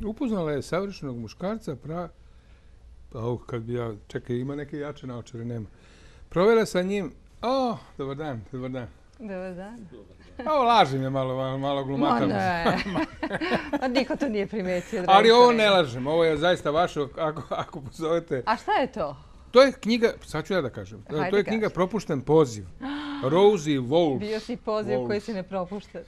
Upoznala je savršenog muškarca, kad bi ja, čekaj, ima neke jače naočare, nema. Provela sa njim, dobar dan. Dobar dan. Lažem je malo glumatam. Niko to nije primetio. Ali ovo ne lažem, ovo je zaista vaše, ako pozovete. A šta je to? To je knjiga, sad ću ja da kažem, to je knjiga Propušten poziv. Rosie Wolf. Bio si poziv koji se ne propušta.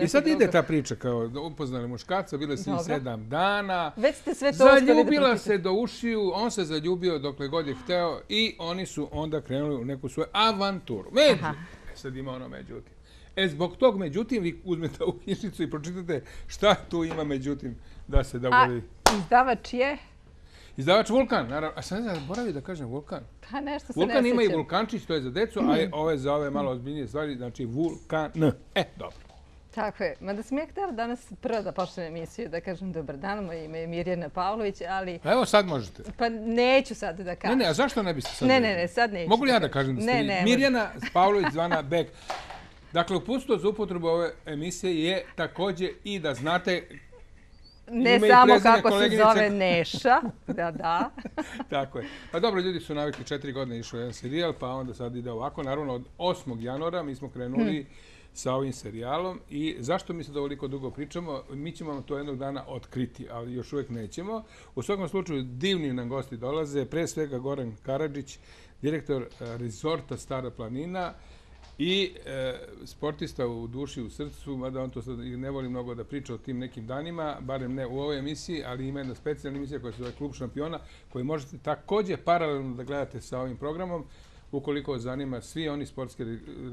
I sad ide ta priča kao upoznali muškarca, bile su 7 dana. Već ste sve to uspeli da zaljubila se do ušiju, on se zaljubio dokle god je hteo i oni su onda krenuli u neku svoju avanturu. Sad ima ono međutim. Zbog tog međutim vi uzmete ovu knjižnicu i pročitate šta tu ima međutim da se dogodi. A izdavač je? Izdavač Vulkan, naravno. A sad zaboravio da kažem Vulkan. Pa nešto se Vulkan ne ima i sjećam. Vulkančić, to je za decu, a ove za ove malo ozbiljnije stvari, znači Vulkan. Dobro. Tako je. Mada sam ja htjela danas prvo da počnem emisiju, da kažem dobar dan, moje ime je Mirjana Pavlović, ali... Evo sad možete. Pa neću sad da kažem. Ne, a zašto ne biste sad? Ne, sad neću. Mogu li ja da kažem da ste vi? Mirjana Pavlović zvana Bek. Dakle, uputstvo za upotrebu ove emisije je također i da znate... Ne samo kako se zove Neša, da. Tako je. Pa dobro, ljudi su navikli 4 godine išao jedan serijal, pa onda sad ide ovako. Naravno, od 8. januara mi smo krenuli sa ovim serijalom i zašto mi se ovoliko dugo pričamo? Mi ćemo vam to jednog dana otkriti, ali još uvijek nećemo. U svakom slučaju, divni nam gosti dolaze, pre svega Goran Karadžić, direktor rezorta Stara planina, i sportista u duši i u srcu, mada on to sad ne voli mnogo da priča o tim nekim danima, barem ne u ovoj emisiji, ali ima jedna specijalna emisija koja se zove Klub šampiona, koju možete također paralelno da gledate sa ovim programom, ukoliko vas zanima svi oni sportski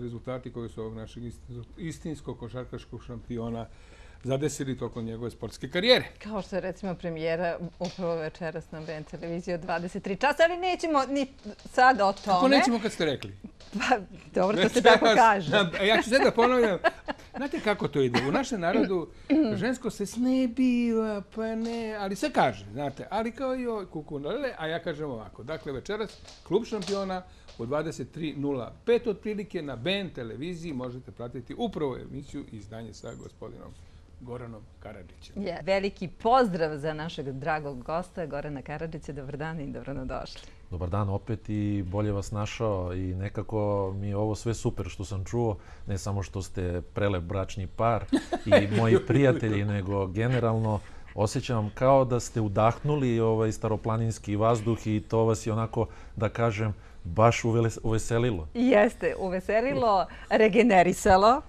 rezultati koji su ovog našeg istinskog košarkaškog šampiona zadesili tokom njegove sportske karijere. Kao što je recimo premijera upravo večeras na BN televiziji od 23 časa, ali nećemo ni sad o tome. Kako nećemo kad ste rekli? Pa dobro, to se tako kaže. Ja ću sad da ponavljam. Znate kako to ide? U našem narodu žensko se snebiva, pa ne, ali se kaže, znate, ali kao i ovaj kukunale, a ja kažem ovako. Dakle, večeras Klub šampiona u 23:05 otprilike na BN televiziji možete pratiti upravo emisiju i izdanje sa gospodinom Goranom Karadžićem. Veliki pozdrav za našeg dragog gosta, Gorana Karadžića. Dobar dan i dobro nam došli. Dobar dan opet i bolje vas našao i nekako mi je ovo sve super što sam čuo, ne samo što ste prelep bračni par i moji prijatelji, nego generalno osjećam kao da ste udahnuli ovaj staroplaninski vazduh i to vas je onako, da kažem, baš uveselilo. Jeste, uveselilo, regenerisalo.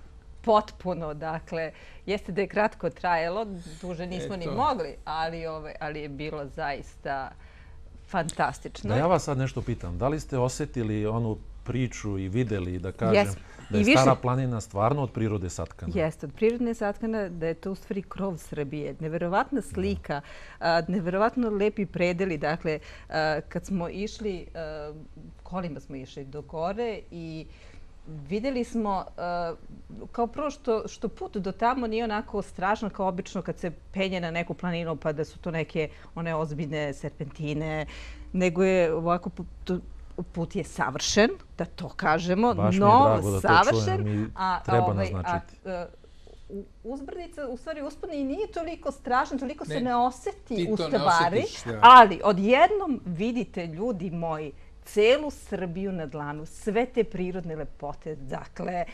Potpuno, dakle, jeste da je kratko trajalo, duže nismo ni mogli, ali je bilo zaista fantastično. Da ja vas sad nešto pitam, da li ste osjetili onu priču i videli, da kažem, da je Stara planina stvarno od prirode satkana? Jeste, od prirode satkana, da je to u stvari krov Srbije. Neverovatna slika, neverovatno lepi predeli. Dakle, kad smo išli, kolima smo išli do gore i vidjeli smo, kao prvo što put do tamo nije onako strašno kao obično kad se penje na neku planinu pa da su to neke one ozbiljne serpentine, nego je ovako put je savršen, da to kažemo, no savršen. I treba naznačiti. Uzbrdica, u stvari uspon i nije toliko strašno, toliko se ne osjeti u stvari, ali odjednom vidite, ljudi moji, celu Srbiju na dlanu, sve te prirodne lepote, dakle,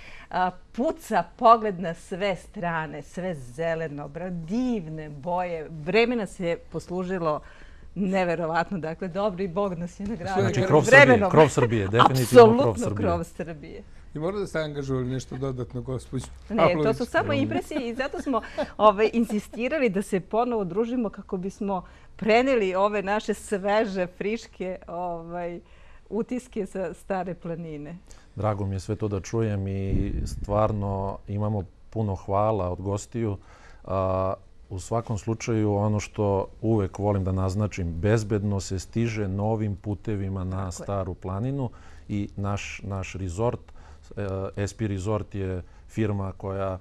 puca pogled na sve strane, sve zeleno, divne boje. Vreme nas je poslužilo neverovatno, dakle, dobri Bog nas je nagradio. Znači, krov Srbije, definitivno krov Srbije. Apsolutno krov Srbije. I mora da ste angažovali nešto dodatno, gospođo Ne, to su samo impresije i zato smo insistirali da se ponovo družimo kako bismo preneli ove naše sveže, friške utiske sa Stare planine. Drago mi je sve to da čujem i stvarno imamo puno hvala od gostiju. U svakom slučaju, ono što uvek volim da naznačim, bezbedno se stiže novim putevima na Staru planinu i naš rezort, SP Resort je firma koja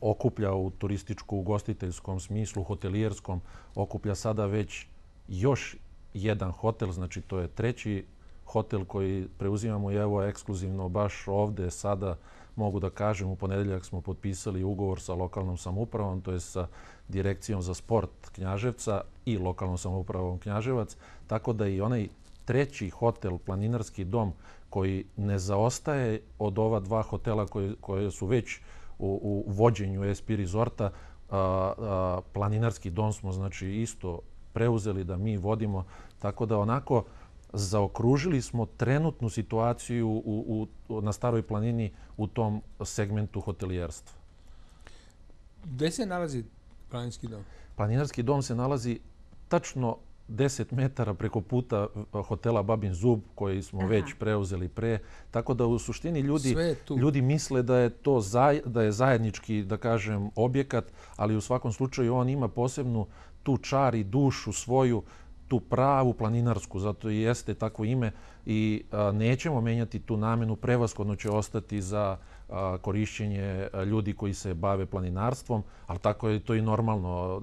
okuplja u turističko-ugostiteljskom smislu, hotelijerskom, okuplja sada već još jedan hotel, znači to je treći hotel koji preuzimamo i evo ekskluzivno baš ovde sada mogu da kažem, u ponedeljak smo potpisali ugovor sa lokalnom samoupravom, to je sa Direkcijom za sport Knjaževca i lokalnom samoupravom Knjaževac, tako da i onaj treći hotel, Planinarski dom, koji ne zaostaje od ova dva hotela koje su već u vođenju SP Resorta, Planinarski dom smo znači isto preuzeli da mi vodimo, tako da onako zaokružili smo trenutnu situaciju na Staroj planini u tom segmentu hotelijerstva. Gde se nalazi Planinarski dom? Planinarski dom se nalazi tačno 10 metara preko puta hotela Babin Zub, koji smo već preuzeli pre. Tako da u suštini ljudi misle da je to da je zajednički, da kažem, objekat, ali u svakom slučaju on ima posebnu tu čar i dušu svoju, tu pravu planinarsku, zato i jeste takvo ime i nećemo menjati tu namenu, prevashodno će ostati za korišćenje ljudi koji se bave planinarstvom, ali tako je to i normalno.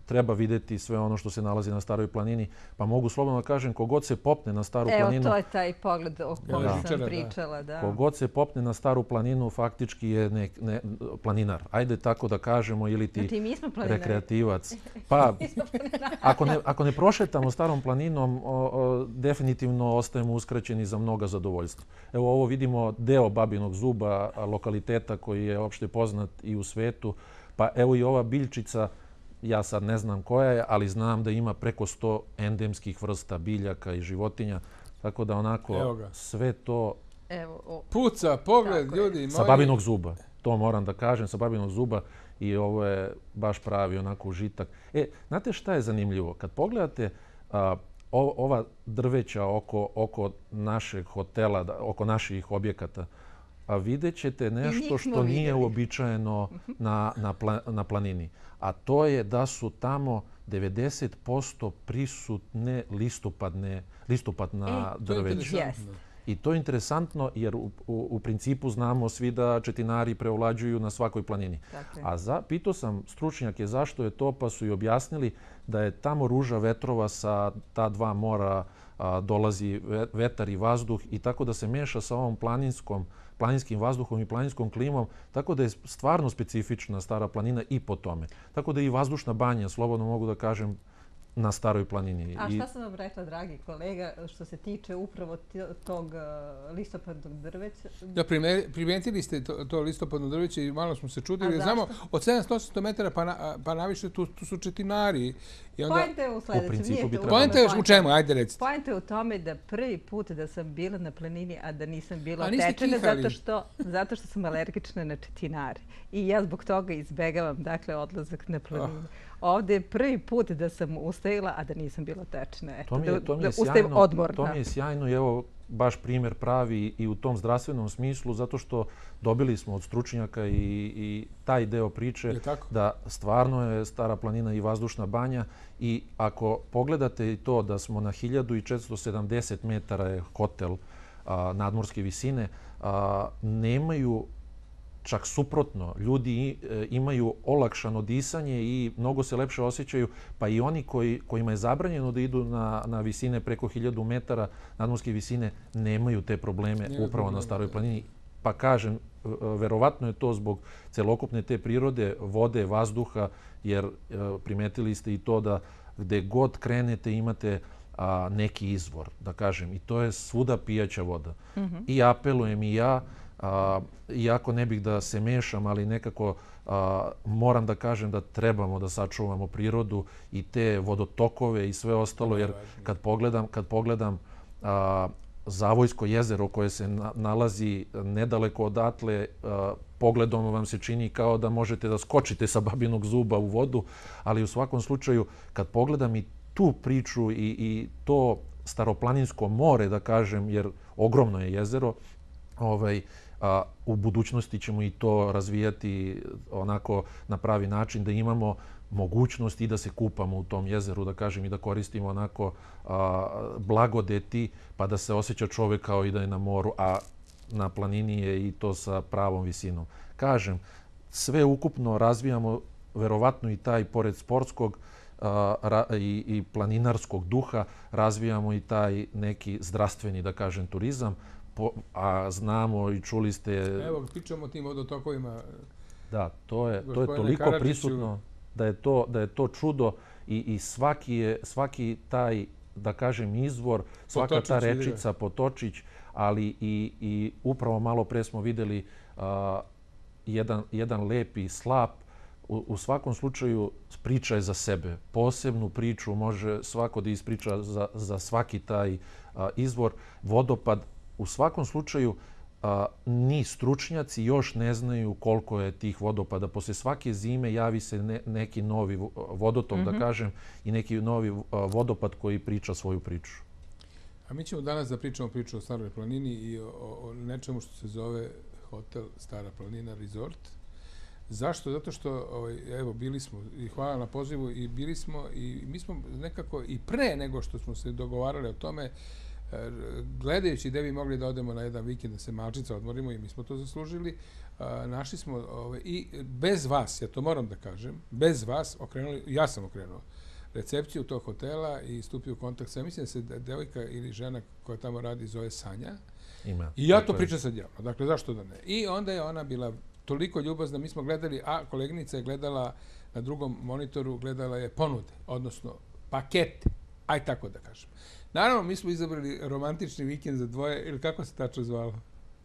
Treba videti sve ono što se nalazi na Staroj planini, pa mogu slobodno da kažem, kogod se popne na Staru planinu... Evo, to je taj pogled o kojem sam pričala. Kogod se popne na Staru planinu, faktički je planinar. Ajde tako da kažemo, ili ti rekreativac. Pa, ako ne prošetamo Starom planinom, definitivno ostajemo uskraćeni za mnoga zadovoljstva. Evo, ovo vidimo deo Babinog Zuba, lokaliteta koji je opšte poznat i u svetu. Pa evo i ova biljčica, ja sad ne znam koja je, ali znam da ima preko 100 endemskih vrsta biljaka i životinja. Tako da onako sve to... Puca, pogled, ljudi moji. Sa Babinog Zuba, to moram da kažem, sa Babinog Zuba i ovo je baš pravi onako užitak. Znate šta je zanimljivo? Kad pogledate ova drveća oko našeg hotela, oko naših objekata, a vidjet ćete nešto što nije uobičajeno na planini. A to je da su tamo 90% prisutne listopadna drveća. I to je interesantno jer u principu znamo svi da četinari preovlađuju na svakoj planini. A pitao sam stručnjake zašto je to, pa su i objasnili da je tamo ruža vetrova sa ta dva mora, dolazi vetar i vazduh i tako da se meša sa ovom planinskim vazduhom i planinskom klimom, tako da je stvarno specifična Stara planina i po tome. Tako da i vazdušna banja, slobodno mogu da kažem, na Staroj planini. A šta sam vam rekla, dragi kolega, što se tiče upravo tog listopadnog drveća? Da, primetili ste to listopadno drveće i malo smo se čudili. Znamo, od 700-800 metara pa naviše tu su četinari. Poenta je u sljedećem. Poenta je u čemu? Ajde recite. Poenta je u tome da prvi put da sam bila na planini, a da nisam bila otečena zato što sam alergična na četinare. I ja zbog toga izbegavam, dakle, odlazak na planinu. Ovdje je prvi put da sam ustajila, a da nisam bila tečna. Da ustajem odmorna. To mi je sjajno i evo baš primjer pravi i u tom zdravstvenom smislu, zato što dobili smo od stručnjaka i taj deo priče da stvarno je Stara planina i vazdušna banja i ako pogledate i to da smo na 1470 metara je hotel nadmorske visine, nemaju čak suprotno, ljudi imaju olakšano disanje i mnogo se lepše osjećaju, pa i oni kojima je zabranjeno da idu na visine preko 1000 metara nadmorske visine nemaju te probleme upravo na Staroj planini. Pa kažem, verovatno je to zbog celokupne te prirode, vode, vazduha, jer primetili ste i to da gde god krenete imate neki izvor, da kažem, i to je svuda pijaća voda. I apelujem i ja, iako ne bih da se mešam, ali nekako moram da kažem da trebamo da sačuvamo prirodu i te vodotokove i sve ostalo, jer kad pogledam Zavojsko jezero koje se nalazi nedaleko odatle, pogledom vam se čini kao da možete da skočite sa Babinog Zuba u vodu, ali u svakom slučaju kad pogledam i tu priču i to staroplaninsko more, da kažem, jer ogromno je jezero, u budućnosti ćemo i to razvijati onako na pravi način da imamo mogućnost i da se kupamo u tom jezeru, da kažem, i da koristimo onako blagodeti pa da se osjeća čovek kao i da je na moru, a na planini je i to sa pravom visinom. Kažem, sve ukupno razvijamo verovatno i taj, pored sportskog i planinarskog duha, razvijamo i taj neki zdravstveni, da kažem, turizam. a znamo i čuli ste... Evo, pričamo o tim vodotokovima. Da, to je toliko prisutno da je to čudo i svaki taj, da kažem, izvor, svaka ta rečica, potočić, ali i upravo malo pre smo videli jedan lepi slap. U svakom slučaju priča je za sebe. Posebnu priču može svako da ispriča za svaki taj izvor. Vodopad, u svakom slučaju, ni stručnjaci još ne znaju koliko je tih vodopada. Posle svake zime javi se neki novi vodotok, da kažem, i neki novi vodopad koji priča svoju priču. A mi ćemo danas da pričamo priču o Staroj planini i o nečemu što se zove hotel Stara planina Resort. Zašto? Zato što, evo, bili smo, i hvala na pozivu, i bili smo, i mi smo nekako i pre nego što smo se dogovarali o tome, gledajući gde bi mogli da odemo na jedan vikend, da se malčica odmorimo, i mi smo to zaslužili, našli smo, i bez vas, ja to moram da kažem, bez vas okrenuli, ja sam okrenuo recepciju tog hotela i stupio u kontakt sa, mislim da se devojka ili žena koja tamo radi zove Sanja. Ima. I ja to pričam sad javno, dakle, zašto da ne? I onda je ona bila toliko ljubazna, mi smo gledali, a koleginica je gledala na drugom monitoru, gledala je ponude, odnosno pakete, aj tako da kažem. Naravno, mi smo izabrali romantični vikend za dvoje, ili kako se tačno zvalo?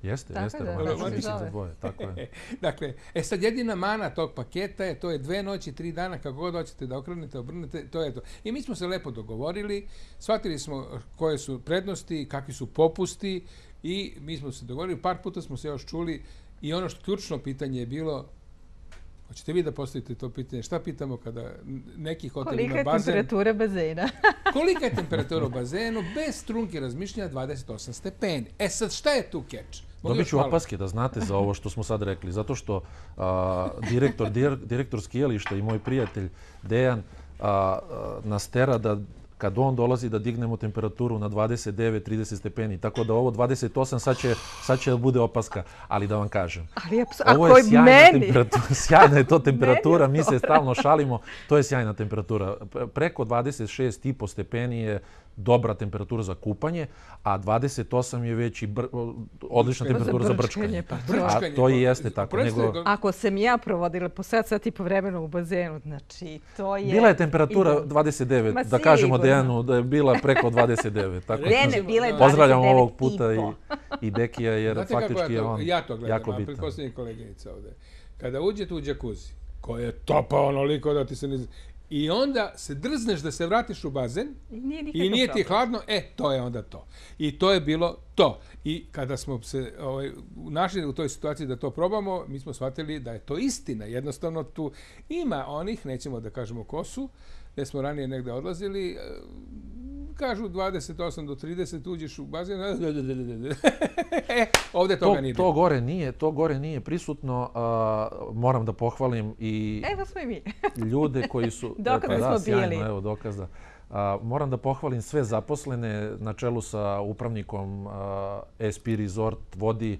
Jeste, romantični vikend za dvoje, tako je. Dakle, sad jedina mana tog paketa je, to je 2 noći, 3 dana, kako god hoćete da okrenete, obrnete, to je to. I mi smo se lepo dogovorili, shvatili smo koje su prednosti, kakvi su popusti, i mi smo se dogovorili, par puta smo se još čuli, i ono što ključno pitanje je bilo, hoćete vi da postavite to pitanje, šta pitamo kada neki hotel ima bazen? Kolika je temperatura bazena? Kolika je temperatura u bazenu? Bez trunke razmišljanja 28 stepeni. E sad, šta je tu keč? Dobit ću opaske da znate za ovo što smo sad rekli, zato što direktor skijališta i moj prijatelj Dejan nas tera da kad on dolazi da dignemo temperaturu na 29-30 stepeni. Tako da ovo 28 sad će da bude opaska. Ali da vam kažem, ovo je sjajna je to temperatura, mi se stalno šalimo, to je sjajna temperatura. Preko 26,5 stepeni je dobra temperatura za kupanje, a 28 je već i odlična temperatura za brčkanje. A to i jeste tako. Ako sam ja provodila po sat i po vremenu u bazenu, znači to je... Bila je temperatura 29, da kažemo Dejanu da je bila preko 29. Pozdravljam ovog puta i Dekija, jer faktički je on jako bitan. Ja to gledam, a pretpostavljam koleginica ovde. Kada uđete u džakuzi, koja je topa onoliko da ti se ne... I onda se drzneš da se vratiš u bazen i nije ti hladno, to je onda to. I to je bilo to. I kada smo se našli u toj situaciji da to probamo, mi smo shvatili da je to istina. Jednostavno tu ima onih, nećemo da kažemo ko su, gde smo ranije negde odlazili, kažu 28 do 30, uđeš u bazen, ovde toga nije bilo. To gore nije prisutno, moram da pohvalim i ljude koji su... Dokaze smo bili. Evo dokaza. Moram da pohvalim sve zaposlene na čelu sa upravnikom SP Resort vodi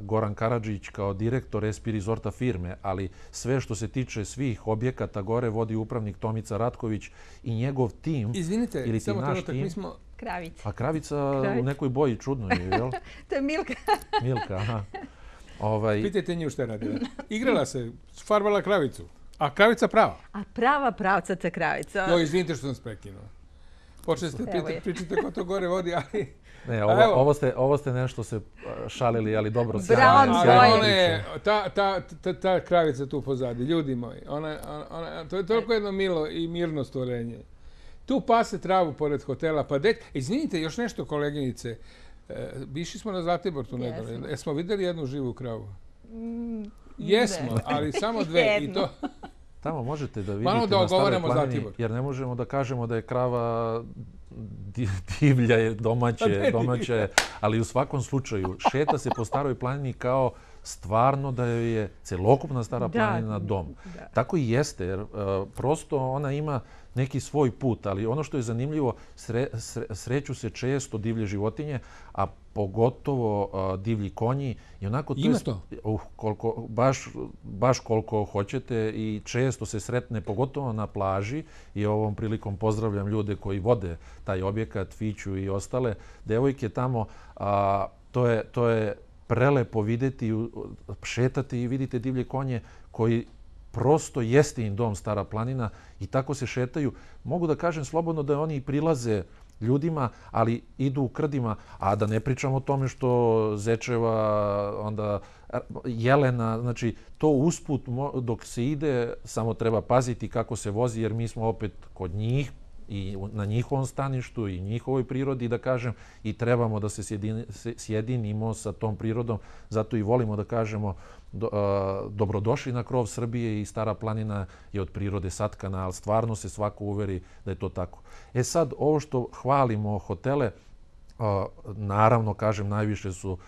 Goran Karadžić kao direktor SP Resorta firme, ali sve što se tiče svih objekata gore vodi upravnik Tomica Ratković i njegov tim. Izvinite, samo trenutak, mi smo... Kravica. A kravica u nekoj boji čudno je, jel? To je Milka. Milka, aha. Pitajte nju šta je radila. Igrala se, farbala kravicu. A kravica prava? A prava pravcata kravica. Jo, izvinite što sam se prekinuo. Počeli ste pričati ko to gore vodi, ali... Ne, ovo ste nešto se šalili, ali dobro. Ta kravica tu pozadi, ljudi moji, to je toliko jedno milo i mirno stvorenje. Tu pase travu pored hotela, pa izvinite, još nešto, koleginice, išli smo na Zlatibor tu nedavno, jesmo vidjeli jednu živu kravu? Jesmo, ali samo 2 i to... Tamo možete da vidite na Staroj planini, jer ne možemo da kažemo da je krava divlja, domaća, ali u svakom slučaju šeta se po Staroj planini kao stvarno da je celokupna Stara planina dom. Tako i jeste, jer prosto ona ima neki svoj put, ali ono što je zanimljivo, sreću se često divlje životinje, a pogotovo divlji konji. Ima to? Baš koliko hoćete i često se sretne, pogotovo na plaži, i ovom prilikom pozdravljam ljude koji vode taj objekat, Fiću i ostale devojke tamo. To je prelepo vidjeti, šetati i vidite divlje konje koji prosto jeste im dom Stara planina i tako se šetaju. Mogu da kažem slobodno da oni prilaze ljudima, ali idu u krdima, a da ne pričamo o tome što zečeva, onda jelena, znači to usput dok se ide, samo treba paziti kako se vozi, jer mi smo opet kod njih i na njihovom staništu i njihovoj prirodi, da kažem, i trebamo da se sjedinimo sa tom prirodom. Zato i volimo da kažemo dobrodošli na krov Srbije i Stara planina je od prirode satkana, ali stvarno se svako uveri da je to tako. E sad, ovo što hvalimo hotele, naravno, kažem, najviše su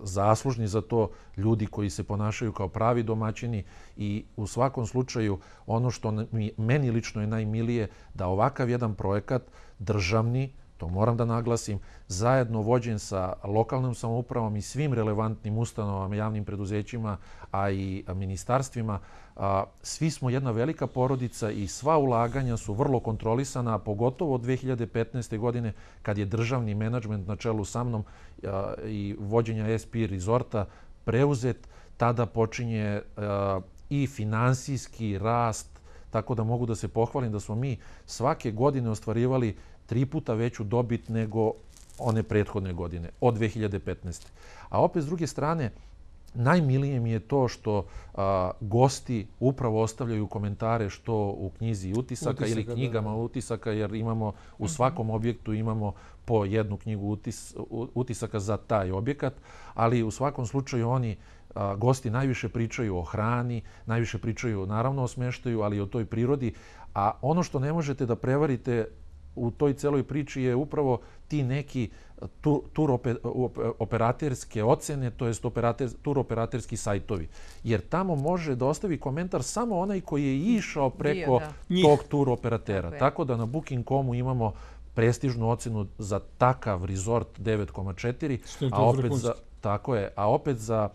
zaslužni za to ljudi koji se ponašaju kao pravi domaćini i u svakom slučaju ono što meni lično je najmilije da ovakav jedan projekat državni, to moram da naglasim, zajedno vođen sa lokalnom samoupravom i svim relevantnim ustanovama, javnim preduzećima, a i ministarstvima, svi smo jedna velika porodica i sva ulaganja su vrlo kontrolisana, a pogotovo od 2015. godine kad je državni menadžment na čelu sa mnom i vođenja SP Resorta preuzet, tada počinje i finansijski rast, tako da mogu da se pohvalim da smo mi svake godine ostvarivali 3 puta veću dobit nego one prethodne godine, od 2015. A opet, s druge strane, najmilije mi je to što gosti upravo ostavljaju komentare što u knjizi utisaka ili knjigama utisaka, jer imamo u svakom objektu imamo po jednu knjigu utisaka za taj objekat, ali u svakom slučaju oni gosti najviše pričaju o hrani, najviše pričaju naravno o smeštaju, ali i o toj prirodi, a ono što ne možete da prevarite u toj celoj priči je upravo ti neki turoperaterske ocene, to je turoperaterski sajtovi. Jer tamo može da ostavi komentar samo onaj koji je išao preko tog turoperatera. Tako da na Booking.comu imamo prestižnu ocenu za takav resort 9,4, a opet za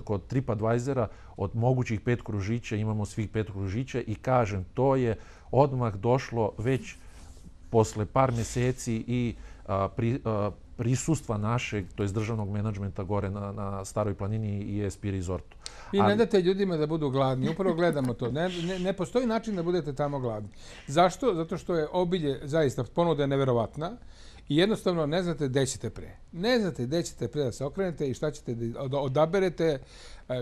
kod TripAdvisora od mogućih 5 kružića imamo svih 5 kružića i kažem, to je odmah došlo već posle par meseci i prisustva našeg, to je državnog menadžmenta gore na Staroj planini i ESP Resortu. Vi ne date ljudima da budu gladni, upravo gledamo to. Ne postoji način da budete tamo gladni. Zašto? Zato što je obilje, zaista, ponuda je neverovatna i jednostavno ne znate gde ćete pre. Ne znate gde ćete pre da se okrenete i šta ćete da odaberete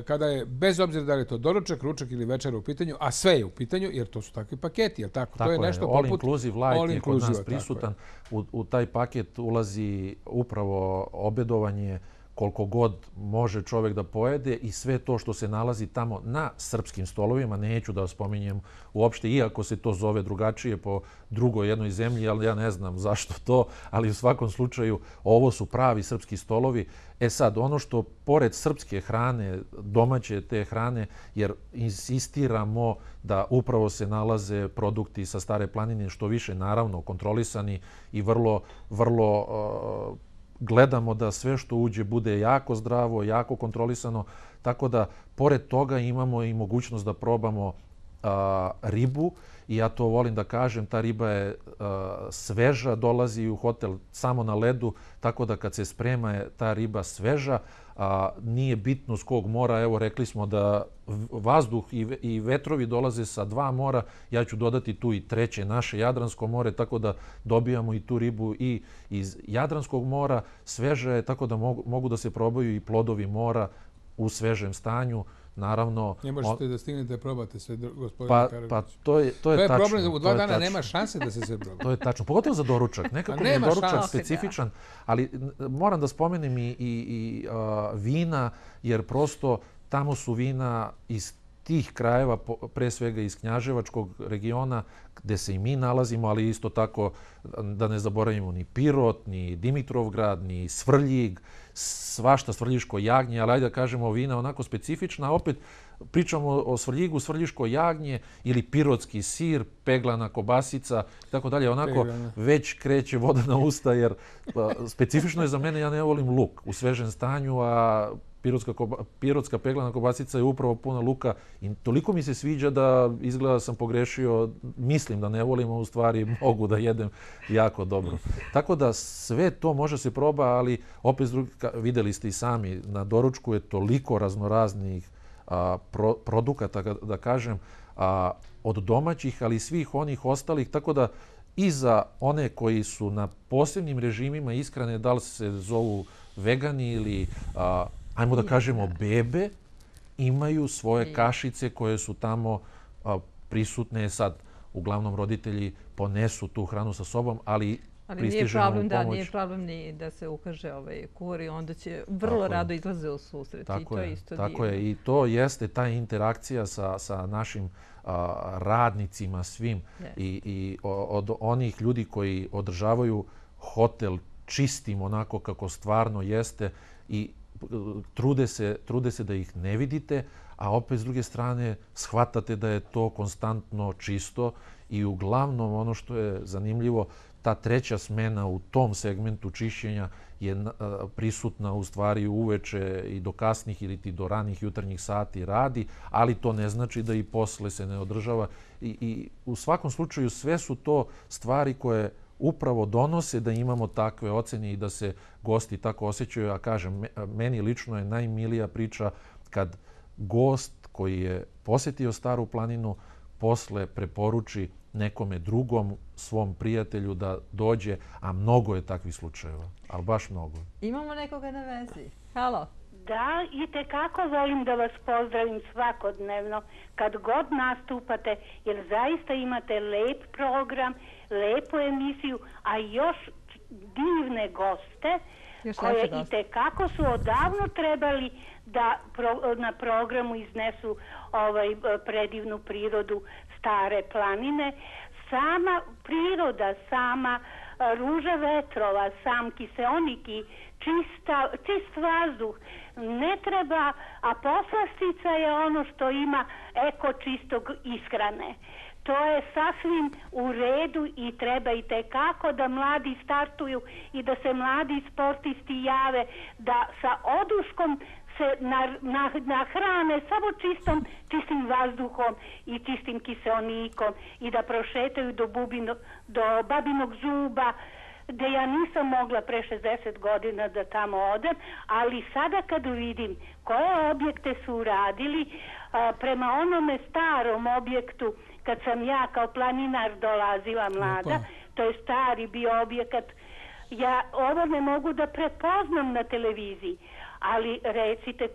kada je, bez obzira da li je to doručak, ručak ili večera u pitanju, a sve je u pitanju, jer to su takvi paketi, jel tako? To je nešto poput... All Inclusive Light je kod nas prisutan. U taj paket ulazi upravo obedovanje koliko god može čovjek da pojede i sve to što se nalazi tamo na srpskim stolovima, neću da spominjem uopšte, iako se to zove drugačije po drugoj jednoj zemlji, ali ja ne znam zašto to, ali u svakom slučaju ovo su pravi srpski stolovi. E sad, ono što pored srpske hrane, domaće te hrane, jer insistiramo da upravo se nalaze produkti sa Stare planine, što više naravno kontrolisani i vrlo gledamo da sve što uđe bude jako zdravo, jako kontrolisano, tako da pored toga imamo i mogućnost da probamo ribu i ja to volim da kažem, ta riba je sveža, dolazi u hotel samo na ledu, tako da kad se sprema je ta riba sveža, nije bitno s kog mora, evo rekli smo da vazduh i vetrovi dolaze sa 2 mora, ja ću dodati tu i treće, naše Jadransko more, tako da dobijamo i tu ribu i iz Jadranskog mora, sveža je, tako da mogu da se probaju i plodovi mora u svežem stanju. Naravno... Ne možete da stignete da probate sve, gospodine Karadžić. Pa to je tačno. To je problem, u 2 dana nema šanse da se sve proba. To je tačno, pogotovo za doručak. Nekako je doručak specifičan, ali moram da spomenem i vina, jer prosto tamo su vina iz tih krajeva, pre svega iz Knjaževačkog regiona, gde se i mi nalazimo, ali isto tako da ne zaboravimo ni Pirot, ni Dimitrovgrad, ni Svrljig, svašta Svrljiško jagnje, ali ajde da kažemo vina onako specifična. Opet pričamo o Svrljigu, Svrljiško jagnje ili pirotski sir, peglana kobasica i tako dalje. Onako već kreće voda na usta jer specifično je za mene, ja ne volim luk u svežem stanju, a pirotska peglana kobasica je upravo puna luka i toliko mi se sviđa da izgleda sam pogrešio, mislim da ne volim, a u stvari mogu da jedem jako dobro. Tako da sve to može se proba, ali opet videli ste i sami, na doručku je toliko raznoraznih produkata, da kažem, od domaćih, ali i svih onih ostalih, tako da i za one koji su na posebnim režimima ishrane, da li se zovu vegani ili, ajmo da kažemo, bebe, imaju svoje kašice koje su tamo prisutne. Sad, uglavnom, roditelji ponesu tu hranu sa sobom, ali pristižemo u pomoć. Ali nije problem ni da se ukaže kur i onda će vrlo rado izlaze u susret. Tako je. I to jeste ta interakcija sa našim radnicima svim i od onih ljudi koji održavaju hotel čistim onako kako stvarno jeste i trude se da ih ne vidite, a opet s druge strane shvatate da je to konstantno čisto i uglavnom ono što je zanimljivo, ta treća smena u tom segmentu čišćenja je prisutna u stvari uveče i do kasnih ili do ranih jutarnjih sati radi, ali to ne znači da i posle se ne održava. I u svakom slučaju sve su to stvari koje upravo donose da imamo takve ocene i da se gosti tako osjećaju. A kažem, meni lično je najmilija priča kad gost koji je posjetio Staru planinu posle preporuči nekome drugom, svom prijatelju da dođe, a mnogo je takvih slučajeva, ali baš mnogo. Imamo nekoga na vezi. Halo. Da, i tekako volim da vas pozdravim svakodnevno kad god nastupate, jer zaista imate lep program, lepu emisiju, a još divne goste koje i tekako su odavno trebali da na programu iznesu predivnu prirodu Stare planine. Sama priroda, sama ruža vetrova, sam kiseonik i čist vazduh ne treba, a poslastica je ono što ima eko čistog ishrane. To je sasvim u redu i treba i tekako da mladi startuju i da se mladi sportisti jave, da sa oduškom se nahrane samo čistim vazduhom i čistim kiseonikom i da prošetaju do Babinog zuba, gde ja nisam mogla pre 60 godina da tamo odem, ali sada kad vidim koje objekte su uradili, prema onome starom objektu, kad sam ja kao planinar dolazila mlada, to je stari bio objekat, ja ovo ne mogu da prepoznam na televiziji, ali recite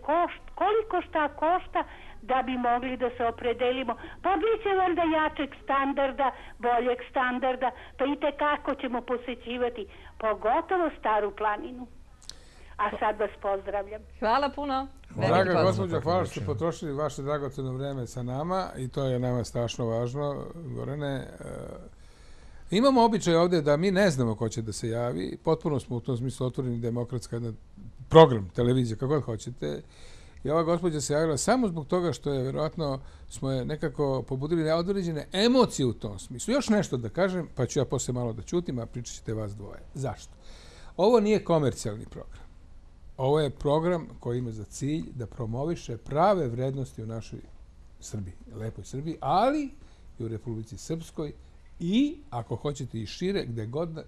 koliko šta košta da bi mogli da se opredelimo. Pa bit će valjda jačeg standarda, boljeg standarda, pa i tekako ćemo posećivati, pogotovo Staru planinu. A sad vas pozdravljam. Hvala puno. Draga gospođo, hvala što ste potrošili vaše dragoceno vreme sa nama i to je nama strašno važno, Gorane. Imamo običaj ovdje da mi ne znamo ko će da se javi. Potpuno smo u tom smislu otvoreni, demokratska program, televizija, kako god hoćete. I ova gospođa se javila samo zbog toga što je, vjerojatno, smo je nekako pobudili određene emocije u tom smislu. Još nešto da kažem, pa ću ja poslije malo da ćutim, a pričat ćete vas dvoje. Zašto? Ovo nije komercijalni program. Ovo je program koji ima za cilj da promoviše prave vrednosti u našoj Srbiji, lepoj Srbiji, ali i u Republici Srpskoj i, ako hoćete i šire, gde god,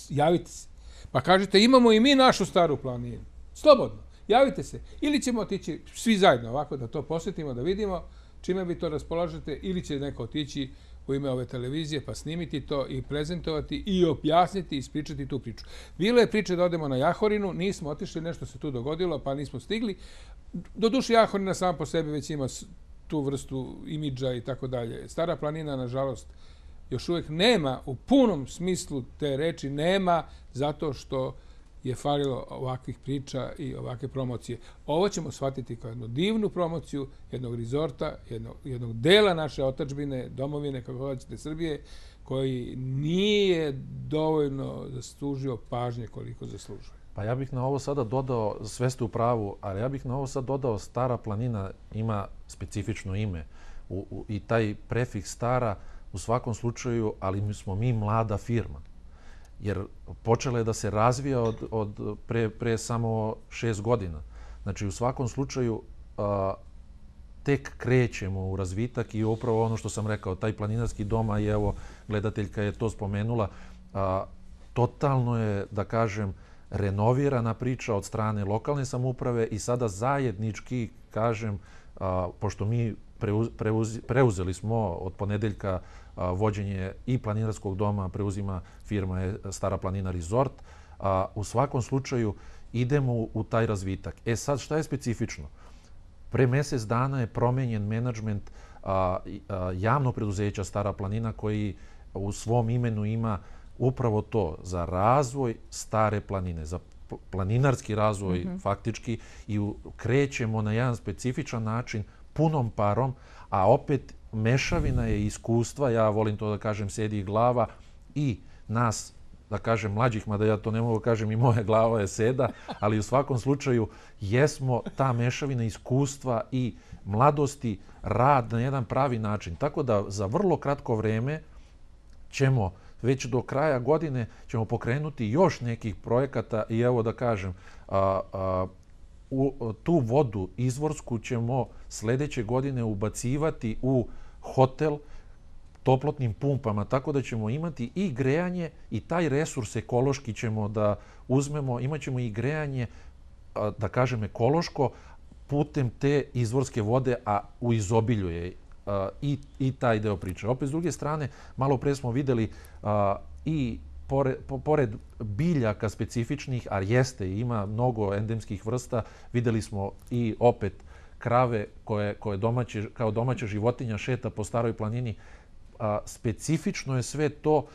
javite se. Pa kažete, imamo i mi našu Staru planinu. Slobodno. Javite se. Ili ćemo otići svi zajedno ovako da to posjetimo, da vidimo čime vi to raspolažete, ili će neko otići u ime ove televizije pa snimiti to i prezentovati i objasniti i ispričati tu priču. Bilo je priče da odemo na Jahorinu, nismo otišli, nešto se tu dogodilo pa nismo stigli. Doduše Jahorina sama po sebi već ima tu vrstu imidža i tako dalje. Stara planina, nažalost, još uvijek nema, u punom smislu te reči nema, zato što je falilo ovakvih priča i ovakve promocije. Ovo ćemo shvatiti kao jednu divnu promociju jednog rezorta, jednog dela naše otadžbine, domovine, kako hoćete, Srbije, koji nije dovoljno zaslužio pažnje koliko zaslužuje. Pa ja bih na ovo sada dodao, sve ste u pravu, ali ja bih na ovo sad dodao Stara planina ima specifično ime i taj prefiks Stara u svakom slučaju, ali smo mi mlada firma. Jer počela je da se razvija od pre samo 6 godina. Znači, u svakom slučaju tek krećemo u razvitak i upravo ono što sam rekao, taj planinarski dom, a i evo gledateljka je to spomenula, totalno je, da kažem, renovirana priča od strane lokalne samouprave i sada zajednički, kažem, pošto mi preuzeli smo od ponedeljka vođenje i planinarskog doma, preuzima firma Stara planina Resort, u svakom slučaju idemo u taj razvitak. Sad, šta je specifično? Pre mjesec dana je promenjen menadžment javnog preduzeća Stara planina koji u svom imenu ima upravo to, za razvoj Stare planine, za planinarski razvoj faktički i krećemo na jedan specifičan način, punom parom, a opet mešavina je iskustva, ja volim to da kažem, sedi i glava i nas, da kažem, mlađih, mada ja to ne mogu kažem, i moja glava je seda, ali u svakom slučaju jesmo ta mešavina iskustva i mladosti, rad na jedan pravi način. Tako da za vrlo kratko vreme ćemo, već do kraja godine, ćemo pokrenuti još nekih projekata i evo da kažem, tu vodu izvorsku ćemo sljedeće godine ubacivati u hotel toplotnim pumpama, tako da ćemo imati i grejanje i taj resurs ekološki ćemo da uzmemo, imat ćemo i grejanje, da kažem, ekološko putem te izvorske vode, a u izobilju je i taj deo priče. Opet, s druge strane, malo pre smo videli i pored biljaka specifičnih, a jeste, ima mnogo endemskih vrsta, videli smo i opet krave koje kao domaća životinja šeta po Staroj planini. Specifično je sve to,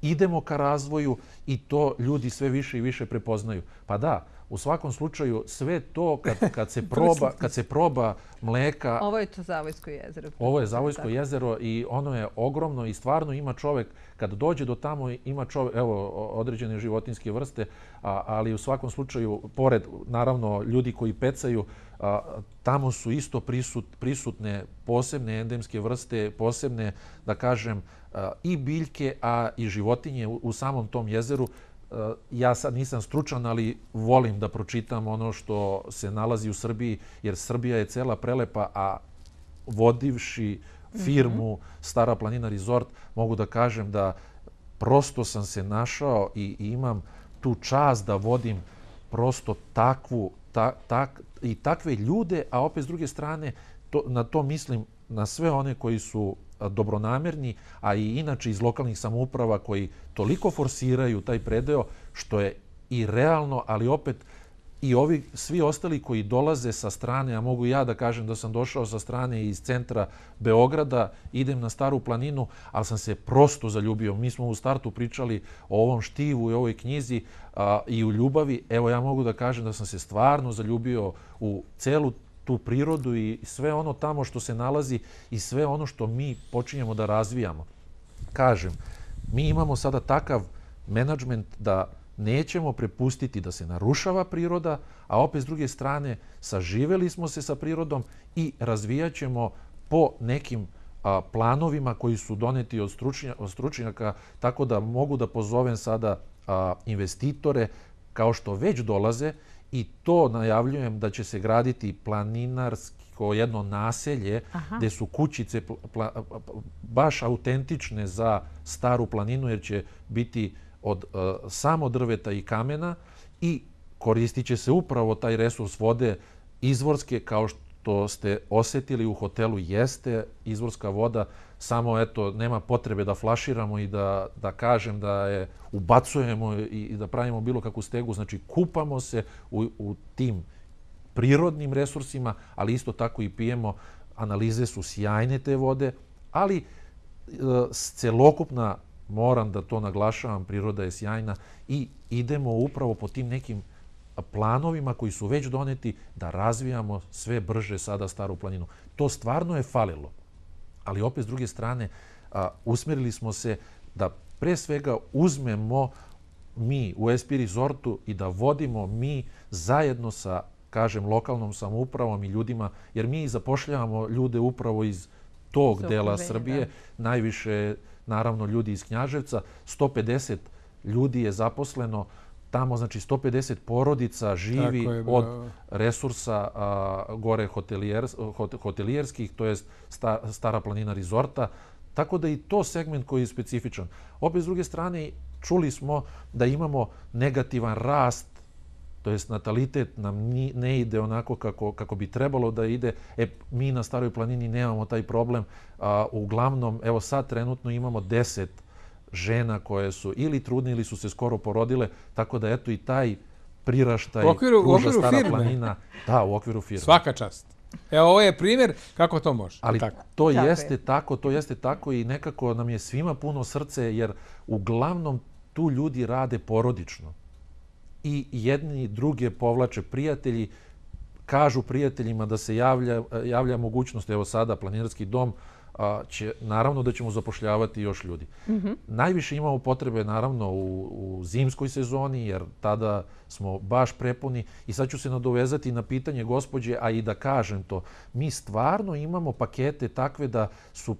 idemo ka razvoju i to ljudi sve više i više prepoznaju. Pa da, u svakom slučaju sve to kad se proba mleka... Ovo je to Zavojsko jezero. Ovo je Zavojsko jezero i ono je ogromno i stvarno ima čovek, kad dođe do tamo ima čovek, evo, određene životinjske vrste, ali u svakom slučaju, pored, naravno, ljudi koji pecaju, tamo su isto prisutne posebne endemske vrste, posebne, da kažem, i biljke, a i životinje u samom tom jezeru. Ja sad nisam stručan, ali volim da pročitam ono što se nalazi u Srbiji, jer Srbija je cela prelepa, a vodivši firmu Stara planina Resort, mogu da kažem da prosto sam se našao i imam tu čast da vodim prosto takve ljude, a opet s druge strane na to mislim na sve one koji su dobronamerni, a i inače iz lokalnih samouprava koji toliko forsiraju taj predeo, što je i realno, ali opet i ovi svi ostali koji dolaze sa strane, a mogu ja da kažem da sam došao sa strane iz centra Beograda, idem na Staru planinu, ali sam se prosto zaljubio. Mi smo u startu pričali o ovom štivu i ovoj knjizi i u ljubavi. Evo, ja mogu da kažem da sam se stvarno zaljubio u celu tu prirodu i sve ono tamo što se nalazi i sve ono što mi počinjemo da razvijamo. Kažem, mi imamo sada takav menadžment da nećemo prepustiti da se narušava priroda, a opet s druge strane saživeli smo se sa prirodom i razvijat ćemo po nekim planovima koji su doneti od stručnjaka, tako da mogu da pozovem sada investitore kao što već dolaze i to najavljujem da će se graditi planinarsko jedno naselje gde su kućice baš autentične za Staru planinu jer će biti od samo drveta i kamena i koristit će se upravo taj resurs vode izvorske, kao što ste osetili u hotelu, jeste izvorska voda, samo eto nema potrebe da flaširamo i da kažem da je ubacujemo i da pravimo bilo kakvu stegu, znači kupamo se u tim prirodnim resursima, ali isto tako i pijemo, analize su sjajne te vode, ali celokupna, moram da to naglašavam, priroda je sjajna i idemo upravo po tim nekim planovima koji su već doneti da razvijamo sve brže sada Staru planinu. To stvarno je falilo, ali opet s druge strane usmerili smo se da pre svega uzmemo mi u SP Resortu i da vodimo mi zajedno sa, kažem, lokalnom samoupravom i ljudima, jer mi zapošljavamo ljude upravo iz tog dela Srbije, najviše naravno ljudi iz Knjaževca, 150 ljudi je zaposleno tamo znači 150 porodica živi od resursa gore hotelijerskih, to jest Stara planina rezorta, tako da i to segment koji je specifičan. Opet s druge strane čuli smo da imamo negativan rast, to jest natalitet nam ne ide onako kako bi trebalo da ide. Mi na Staroj planini nemamo taj problem. Uglavnom, evo sad trenutno imamo 10 žena koje su ili trudne ili su se skoro porodile, tako da eto i taj priraštaj pruža Stara planina. Da, u okviru firme. Svaka čast. Evo, ovo je primjer kako to može. Ali to jeste tako i nekako nam je svima puno srce, jer uglavnom tu ljudi rade porodično. I jedni i druge povlače prijatelji, kažu prijateljima da se javlja mogućnost, evo sada planinarski dom, naravno da ćemo zapošljavati još ljudi. Najviše imamo potrebe naravno u zimskoj sezoni, jer tada smo baš prepuni. I sad ću se nadovezati na pitanje gospođe, a i da kažem to. Mi stvarno imamo pakete takve da su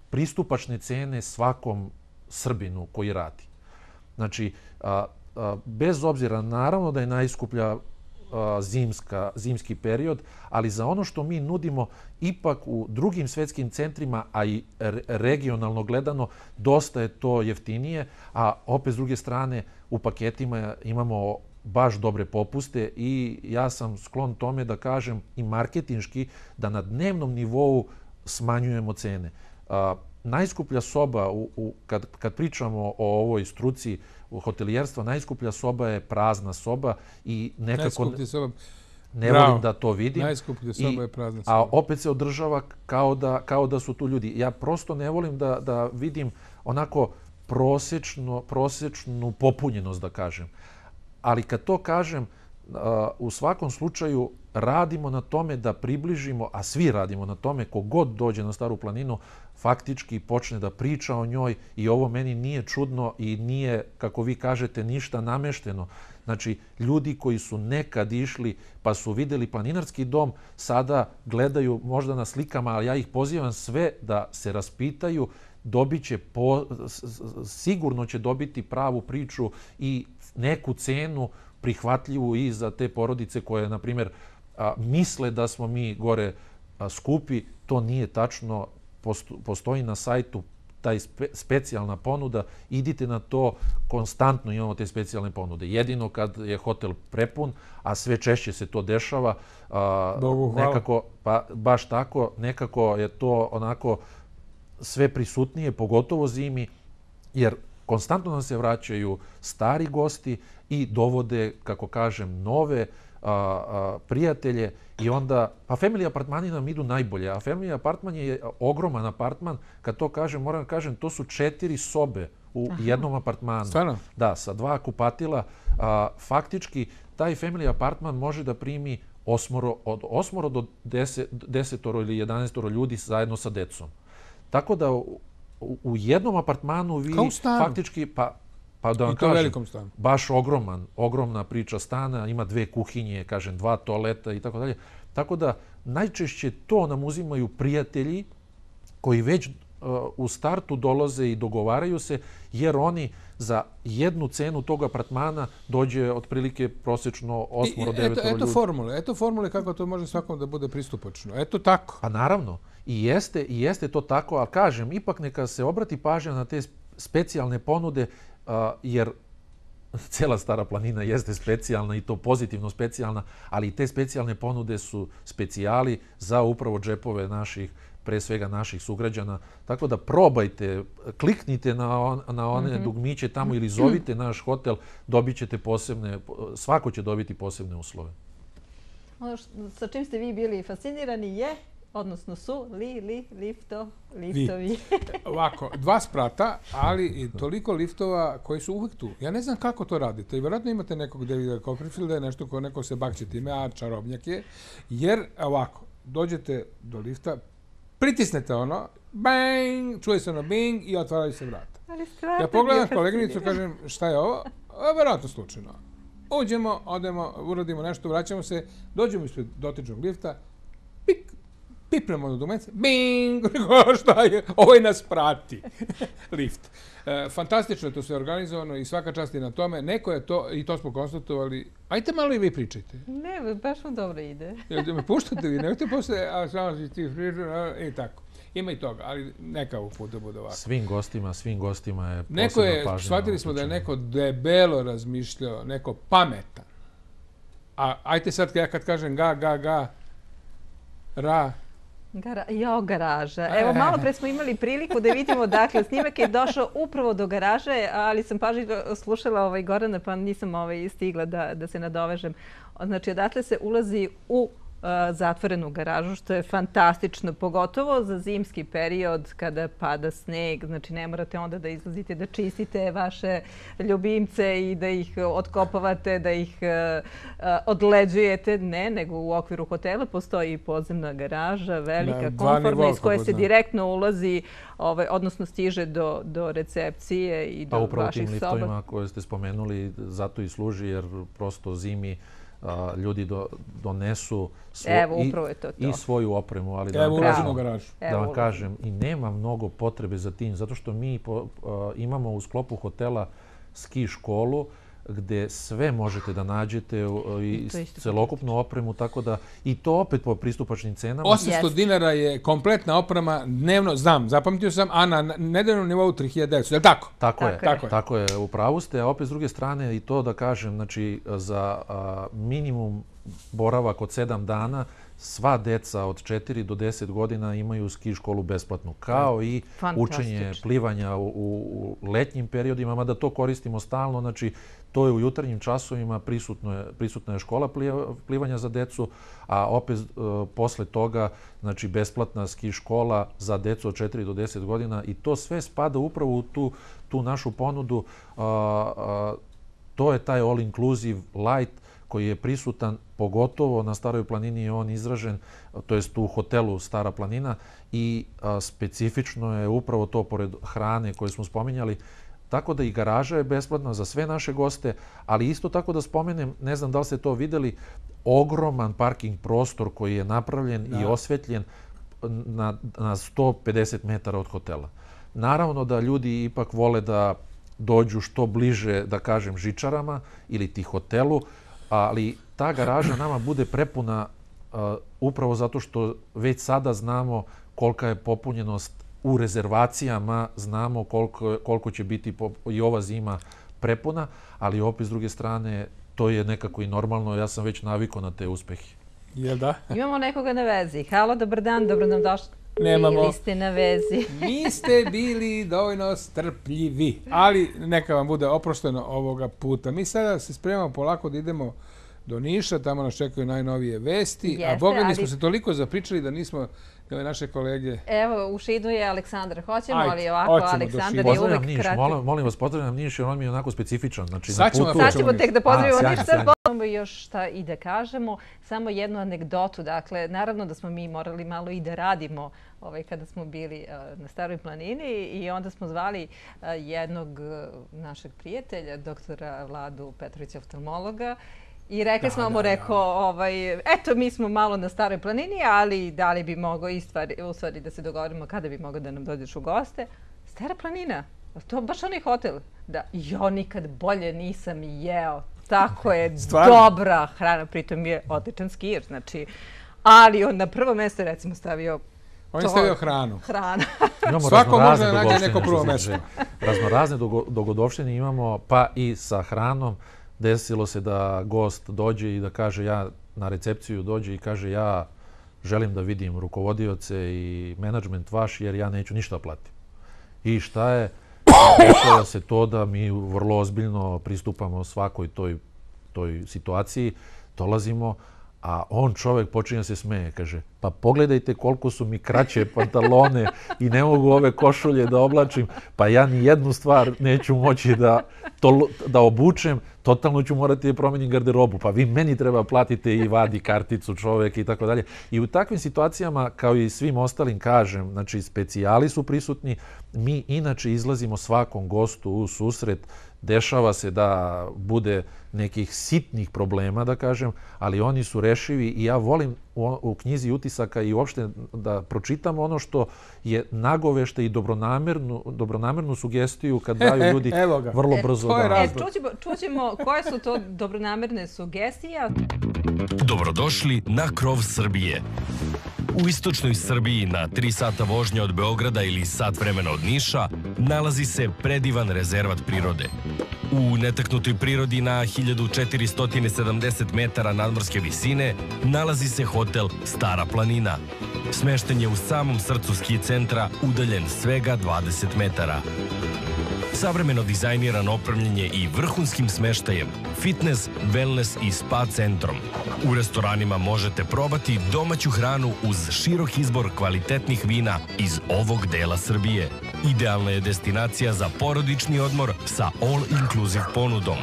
pristupačne cene svakom Srbinu koji radi. Znači, bez obzira, naravno da je najskuplja zimski period, ali za ono što mi nudimo ipak u drugim svetskim centrima, a i regionalno gledano, dosta je to jeftinije, a opet s druge strane u paketima imamo baš dobre popuste i ja sam sklon tome da kažem i marketinški da na dnevnom nivou smanjujemo cene. Najskuplja soba, kad pričamo o ovoj struci u hotelijerstva, najskuplja soba je prazna soba i nekako ne volim da to vidim. Najskuplja soba je prazna soba. A opet se održava kao da su tu ljudi. Ja prosto ne volim da vidim onako prosječnu popunjenost, da kažem. Ali kad to kažem, u svakom slučaju radimo na tome da približimo, a svi radimo na tome, kogod dođe na Staru planinu, faktički počne da priča o njoj i ovo meni nije čudno i nije, kako vi kažete, ništa namešteno. Znači, ljudi koji su nekad išli pa su videli planinarski dom, sada gledaju možda na slikama, ali ja ih pozivam sve da se raspitaju, sigurno će dobiti pravu priču i neku cenu prihvatljivu i za te porodice koje, na primjer, misle da smo mi gore skupi. To nije tačno. Postoji na sajtu taj specijalna ponuda. Idite na to, konstantno imamo te specijalne ponude. Jedino kad je hotel prepun, a sve češće se to dešava, nekako, pa baš tako, nekako je to onako sve prisutnije, pogotovo zimi, jer konstantno nam se vraćaju stari gosti i dovode, kako kažem, nove prijatelje i onda, pa family apartmani nam idu najbolje, a family apartman je ogroman apartman, kad to kažem, moram da kažem, to su 4 sobe u jednom apartmanu. Stvarno? Da, sa 2 kupatila. Faktički, taj family apartman može da primi od 8 do 10 ili 11 ljudi zajedno sa decom. Tako da u jednom apartmanu vi faktički, pa da vam kažem, baš ogromna priča stana, ima 2 kuhinje, kažem, 2 toaleta i tako dalje. Tako da najčešće to nam uzimaju prijatelji koji već u startu dolaze i dogovaraju se, jer oni za jednu cenu tog apartmana dođe otprilike prosječno 8 do 9 ljudi. Eto formule kako to može svakom da bude pristupačno. Eto tako. Pa naravno. I jeste to tako, ali kažem, ipak neka se obrati pažnja na te specijalne ponude, jer cela Stara planina jeste specijalna i to pozitivno specijalna, ali te specijalne ponude su specijali za upravo džepove naših, pre svega naših sugrađana. Tako da probajte, kliknite na one dugmiće tamo ili zovite naš hotel, dobit ćete svako će dobiti posebne uslove. Ono sa čim ste vi bili fascinirani je, odnosno su liftovi. Ovako, 2 sprata, ali i toliko liftova koji su uvijek tu. Ja ne znam kako to radite. I vjerojatno imate nekog Davida Copperfielda, nešto ko neko se bakće time, a čarobnjak je. Jer, ovako, dođete do lifta, pritisnete ono, bang, čuje se ono bing i otvaraju se vrata. Ja pogledam koleginicu, kažem, šta je ovo? Vjerojatno slučajno. Uđemo, odemo, uradimo nešto, vraćamo se, dođemo ispred dotičnog lifta, pik, pipnemo do dugmence, bing, šta je, ovo nas prati, lift. Fantastično je to sve organizovano i svaka čast i na tome. Neko je to, i to smo konstatovali, ajte malo i vi pričajte. Ne, baš vam dobro ide. Jel me puštate vi, nemojte posle, a samo si ti pričati, i tako. Ima i toga, ali neka ovog puta bude ovako. Svim gostima je posebna Neko je, pažnja. shvatili smo da je neko debelo razmišljao, neko pametan. A ajte sad ja kad kažem ga, ra. Garaža. Evo, malo pre smo imali priliku da vidimo, dakle, snimak je došao upravo do garaže, ali sam pažljivo slušala Gorana, pa nisam stigla da se nadovežem. Znači, odatle se ulazi u zatvorenu garažu, što je fantastično, pogotovo za zimski period kada pada sneg. Znači, ne morate onda da izlazite da čistite vaše ljubimce i da ih otkopavate, da ih odleđujete. Ne, nego u okviru hotela postoji i podzemna garaža, velika, komfortna, iz koje se direktno ulazi, odnosno stiže do recepcije i do vaših soba. Pa upravo tim liftovima koje ste spomenuli, zato i služi, jer prosto zimi ljudi donesu i svoju opremu, ali da vam kažem, i nema mnogo potrebe za tim, zato što mi imamo u sklopu hotela ski školu gde sve možete da nađete i celokupnu opremu, tako da i to opet po pristupačnim cenama. 800 dinara je kompletna oprema dnevno, znam, zapamtio sam, a na nedeljnom nivou 3900, je li tako? Tako je, u pravu ste, a opet s druge strane i to da kažem, znači za minimum boravak od 7 dana, sva deca od 4 do 10 godina imaju ski školu besplatnu, kao i učenje plivanja u letnjim periodima, mada to koristimo stalno, znači to je u jutarnjim časovima, prisutna je škola plivanja za decu, a opet posle toga, znači besplatna ski škola za decu od 4 do 10 godina i to sve spada upravo u tu našu ponudu. To je taj all inclusive light koji je prisutan, pogotovo na Staroj planini je on izražen, to jest u hotelu Stara planina i specifično je upravo to pored hrane koje smo spominjali. Tako da i garaža je besplatna za sve naše goste, ali isto tako da spomenem, ne znam da li ste to videli, ogroman parking prostor koji je napravljen i osvetljen na 150 metara od hotela. Naravno da ljudi ipak vole da dođu što bliže, da kažem, žičarama ili ti hotelu, ali ta garaža nama bude prepuna upravo zato što već sada znamo kolika je popunjenost u rezervacijama, znamo koliko će biti i ova zima prepuna, ali opet s druge strane to je nekako i normalno, ja sam već navikao na te uspehe. Jel da? Imamo nekoga na vezi. Halo, dobar dan, dobro nam došli. Nemamo. Bili ste na vezi. Niste bili dovoljno strpljivi, ali neka vam bude oprošteno ovoga puta. Mi sada se spremamo polako da idemo do Niša, tamo nas čekaju najnovije vesti, a boga mi smo se toliko zapričali da nismo ove naše kolege... Evo, u Šidu je Aleksandar. Hoćemo, ali ovako, Aleksandar je uvek kratak. Molim vas, pozdravljam Niš, jer on mi je onako specifičan. Sad ćemo tek da pozdravimo Niš. Imamo još šta i da kažemo. Samo jednu anegdotu. Dakle, naravno da smo mi morali malo i da radimo kada smo bili na Staroj planini i onda smo zvali jednog našeg prijatelja, doktora Vladu Petrovića, oftalmologa, i rekli smo mu, eto, mi smo malo na Staroj planini, ali da li bi mogao u stvari da se dogovorimo kada bi mogao da nam dođeš u goste. Stara planina, to baš onaj hotel. Da, jo, nikad bolje nisam jeo. Tako je, dobra hrana, pritom je odličan skijer, znači, ali on na prvo mjesto, recimo, stavio... On je stavio hranu. Hrana. Svako može da nađe neko prvo mjesto. Raznorazne dogodovštine imamo, pa i sa hranom. Desilo se da gost dođe i da kaže, ja na recepciju dođe i kaže, ja želim da vidim rukovodioce i menadžment vaš jer ja neću ništa platiti. I šta je? Dešava se to da mi vrlo ozbiljno pristupamo svakoj toj situaciji, dolazimo, a on čovjek počinje se smeje, kaže, pa pogledajte koliko su mi kraće pantalone i ne mogu ove košulje da oblačim, pa ja ni jednu stvar neću moći da obučem, totalno ću morati da promenim garderobu, pa vi meni treba platite i vadi karticu čovjek i tako dalje. I u takvim situacijama, kao i svim ostalim, kažem, znači specijali su prisutni, mi inače izlazimo svakom gostu u susret Dešava se da bude nekih sitnih problema, da kažem, ali oni su rešivi i ja volim u knjizi utisaka i uopšte da pročitam ono što je nagovešte i dobronamernu sugestiju kad daju ljudi vrlo brzo. Čućemo koje su to dobronamerne sugestije. Dobrodošli na krov Srbije. U istočnoj Srbiji, na 3 sata vožnje od Beograda ili sat vremena od Niša, nalazi se predivan rezervat prirode. U netaknutoj prirodi na 1470 metara nadmorske visine nalazi se hotel Stara planina. Smešten je u samom srcu ski centra, udaljen svega 20 metara. Savremeno dizajniran, opremljen je i vrhunskim smeštajem, fitness, wellness i spa centrom. U restoranima možete probati domaću hranu uz širok izbor kvalitetnih vina iz ovog dela Srbije. Idealna je destinacija za porodični odmor sa all-inclusive ponudom.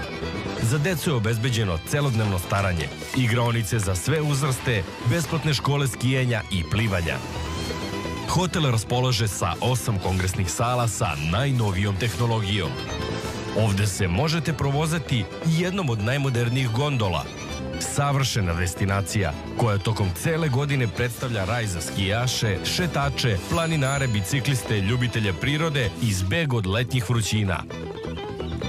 Za decu je obezbeđeno celodnevno staranje, igraonice za sve uzraste, besplatne škole skijenja i plivanja. Hotel raspolaže sa 8 kongresnih sala sa najnovijom tehnologijom. Ovde se možete provozati jednom od najmodernijih gondola. Savršena destinacija koja tokom cele godine predstavlja raj za skijaše, šetače, planinare, bicikliste, ljubitelje prirode i zbeg od letnjih vrućina.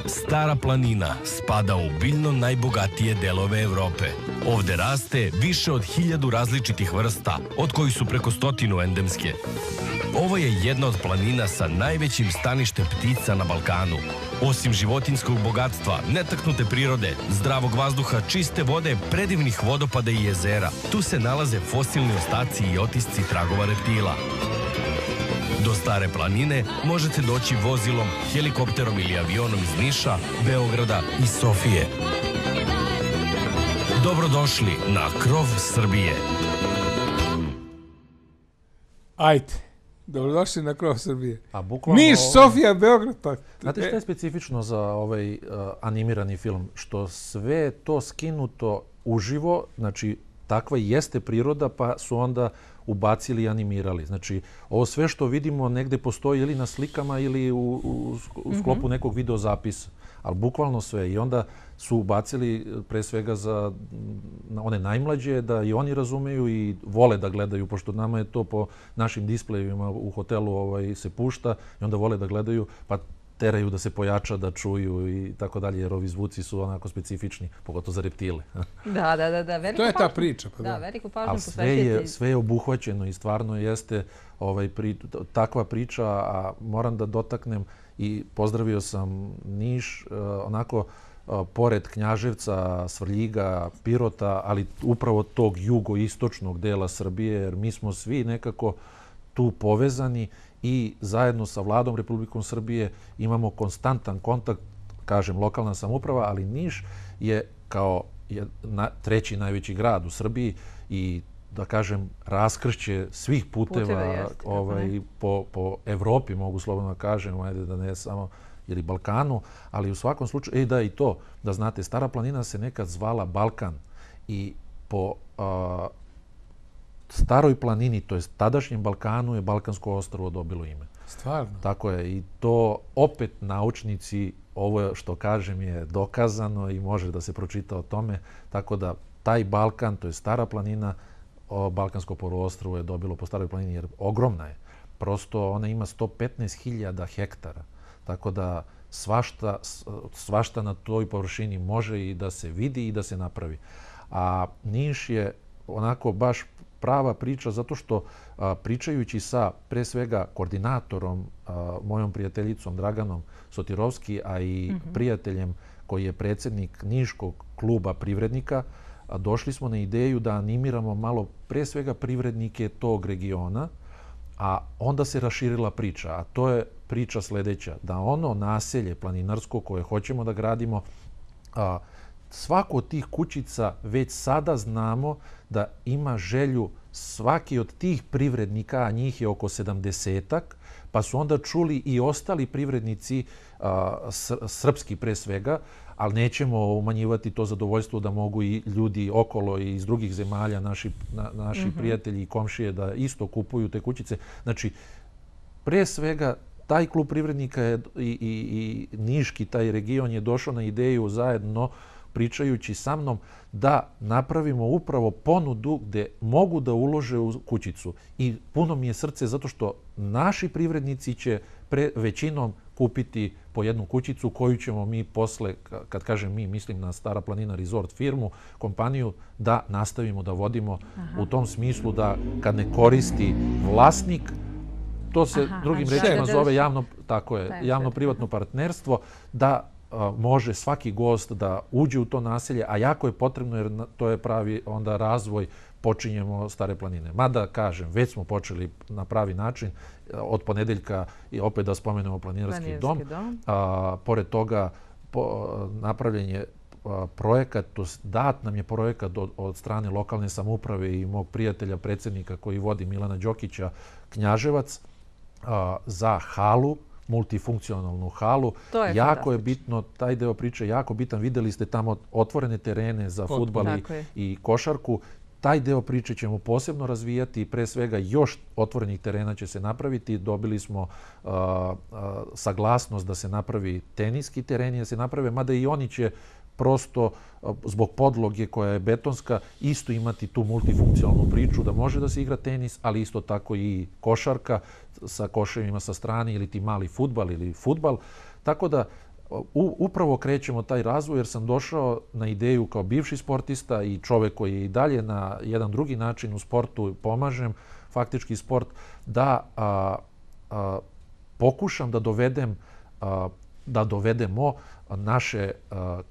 Stara planina spada u biljno najbogatije delove Evrope. Ovde raste više od 1000 različitih vrsta, od kojih su preko 100 endemske. Ovo je jedna od planina sa najvećim staništem ptica na Balkanu. Osim životinjskog bogatstva, netaknute prirode, zdravog vazduha, čiste vode, predivnih vodopada i jezera, tu se nalaze fosilni ostaci i otisci tragova reptila. Do Stare planine možete doći vozilom, helikopterom ili avionom iz Niša, Beograda i Sofije. Dobrodošli na krov Srbije. Ajde, dobrodošli na krov Srbije. Niš, Sofija, Beograd. Znate što je specifično za ovaj animirani film? Što sve to skinuto uživo, znači takva jeste priroda, pa su onda ubacili i animirali. Znači, ovo sve što vidimo negde postoji ili na slikama ili u sklopu nekog videozapisa, ali bukvalno sve. I onda su ubacili pre svega za one najmlađe da i oni razumeju i vole da gledaju, pošto nama je to po našim displejevima u hotelu se pušta i onda vole da gledaju, pa teraju da se pojača, da čuju i tako dalje, jer ovi zvuci su onako specifični, pogotovo za reptile. Da. To je ta priča. Da, veliku pažnju posvećujete. Sve je obuhvaćeno i stvarno jeste takva priča, a moram da dotaknem i pozdravio sam Niš, onako pored Knjaževca, Svrljiga, Pirota, ali upravo tog jugoistočnog dela Srbije, jer mi smo svi nekako tu povezani i zajedno sa Vladom Republikom Srbije imamo konstantan kontakt, kažem, lokalna samouprava, ali Niš je kao treći najveći grad u Srbiji i, da kažem, raskršće svih puteva po Evropi, mogu slobodno da kažem, ajde da ne samo ili Balkanu, ali u svakom slučaju, da i to, da znate, Stara planina se nekad zvala Balkan i po Staroj planini, to je tadašnjem Balkanu, je Balkansko ostrvo dobilo ime. Stvarno? Tako je. I to opet naučnici, ovo što kažem je dokazano i može da se pročita o tome. Tako da taj Balkan, to je Stara planina, Balkansko poluostrvo je dobilo po Staroj planini jer ogromna je. Prosto ona ima 115.000 hektara. Tako da svašta na toj površini može i da se vidi i da se napravi. A Niš je onako baš prava priča zato što pričajući sa pre svega koordinatorom, mojom prijateljicom Draganom Sotirovski, a i prijateljem koji je predsjednik Niškog kluba privrednika, došli smo na ideju da animiramo malo pre svega privrednike tog regiona, a onda se raširila priča, a to je priča sledeća, da ono naselje planinarsko koje hoćemo da gradimo, svako od tih kućica već sada znamo da ima želju svaki od tih privrednika, a njih je oko 70-ak, pa su onda čuli i ostali privrednici, srpski pre svega, ali nećemo umanjivati to zadovoljstvo da mogu i ljudi okolo i iz drugih zemalja, naši prijatelji i komšije da isto kupuju te kućice. Znači, pre svega taj klub privrednika je i Niški, taj region je došao na ideju zajedno pričajući sa mnom da napravimo upravo ponudu gde mogu da ulože u kućicu. I puno mi je srce zato što naši privrednici će većinom kupiti po jednu kućicu koju ćemo mi posle, kad kažem mi, mislim na Stara planina Resort firmu, kompaniju, da nastavimo da vodimo u tom smislu da kad ne koristi vlasnik, to se drugim rečima zove javno-privatno partnerstvo, da može svaki gost da uđe u to naselje, a jako je potrebno jer to je pravi onda razvoj, počinjemo Stare planine. Mada, kažem, već smo počeli na pravi način od ponedeljka i opet da spomenemo Planinarski dom. Pored toga napravljen je projekat, dat nam je projekat od strane lokalne samouprave i mog prijatelja, predsjednika koji vodi Milana Đokića, Knjaževac, za halu, multifunkcionalnu halu. Jako je bitno, taj deo priče je jako bitan. Videli ste tamo otvorene terene za fudbal i košarku. Taj deo priče ćemo posebno razvijati i pre svega još otvorenih terena će se napraviti. Dobili smo saglasnost da se napravi teniski tereni, da se naprave, mada i oni će prosto zbog podloge koja je betonska isto imati tu multifunkcionalnu priču da može da se igra tenis, ali isto tako i košarka sa koševima sa strane ili ti mali fudbal ili fudbal. Tako da upravo krećemo taj razvoj jer sam došao na ideju kao bivši sportista i čovek koji je i dalje na jedan drugi način u sportu pomažem, faktički sport, da pokušam da dovedemo naše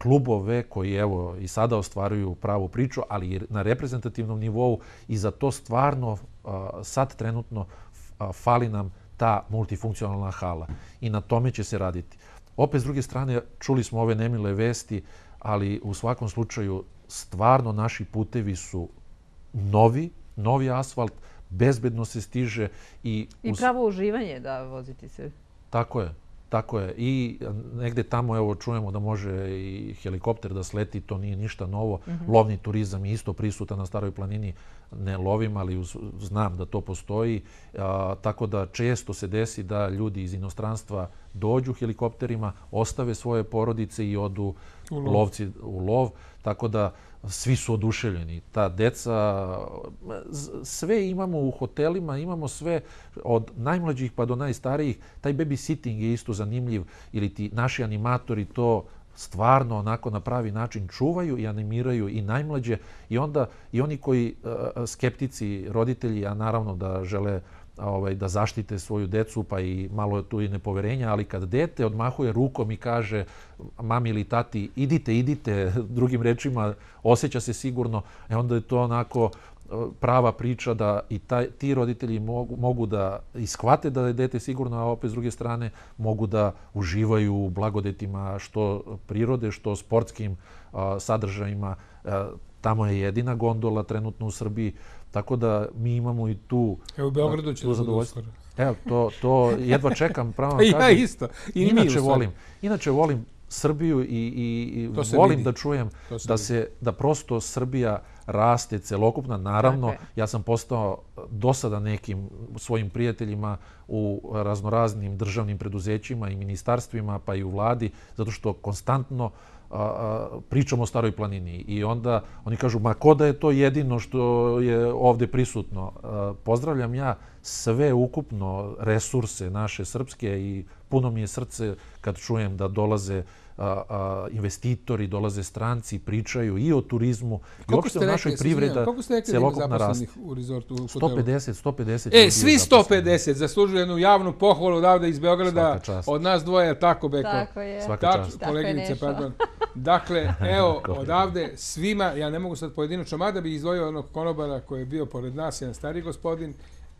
klubove koji evo i sada ostvaruju pravu priču, ali i na reprezentativnom nivou i za to stvarno sad trenutno fali nam ta multifunkcionalna hala i na tome će se raditi. Opet, s druge strane, čuli smo ove nemile vesti, ali u svakom slučaju stvarno naši putevi su novi asfalt, bezbedno se stiže. I pravo uživanje da voziti se. Tako je. I negde tamo, evo, čujemo da može i helikopter da sleti, to nije ništa novo. Lovni turizam je isto prisutan na Staroj planini. Ne lovim, ali znam da to postoji. Tako da često se desi da ljudi iz inostranstva dođu helikopterima, ostave svoje porodice i odu lovci u lov. Tako da svi su oduševljeni. Ta deca, sve imamo u hotelima, imamo sve od najmlađih pa do najstarijih. Taj babysitting je isto zanimljiv ili ti naši animatori to stvarno onako na pravi način čuvaju i animiraju i najmlađe i onda i oni koji skeptici, roditelji, a naravno da žele da zaštite svoju decu, pa i malo tu i nepoverenja, ali kad dete odmahuje rukom i kaže mami ili tati idite, drugim rečima osjeća se sigurno, onda je to onako prava priča da i ti roditelji mogu da ishvate da je dete sigurno, a opet s druge strane mogu da uživaju u blagodetima što prirode, što sportskim sadržajima. Tamo je jedina gondola trenutno u Srbiji, tako da mi imamo i tu zadovoljstvo. Evo u Beogradu će da bude uskoro. Evo, to jedva čekam, pravo kažem. Ja isto. Inače volim Srbiju i volim da čujem da prosto Srbija raste celokupna. Naravno, ja sam postao dosada nekim svojim prijateljima u raznoraznim državnim preduzećima i ministarstvima, pa i u vladi, zato što konstantno pričamo o Staroj planini i onda oni kažu, ma ko da je to jedino što je ovde prisutno. Pozdravljam ja sve ukupno resurse naše srpske i puno mi je srce kad čujem da dolaze investitori, dolaze stranci, pričaju i o turizmu i uopšte o našoj privreda celokupna raste. U resortu? 150. Svi 150 zaslužuju jednu javnu pohvalu odavde iz Beograda. Od nas dvoje, tako Beko. Tako je. Svaka čast. Koleginice, pardon. Dakle, evo, odavde svima, ja ne mogu sad pojedinačno, mada bih izdvojio onog konobara koji je bio pored nas, jedan stari gospodin,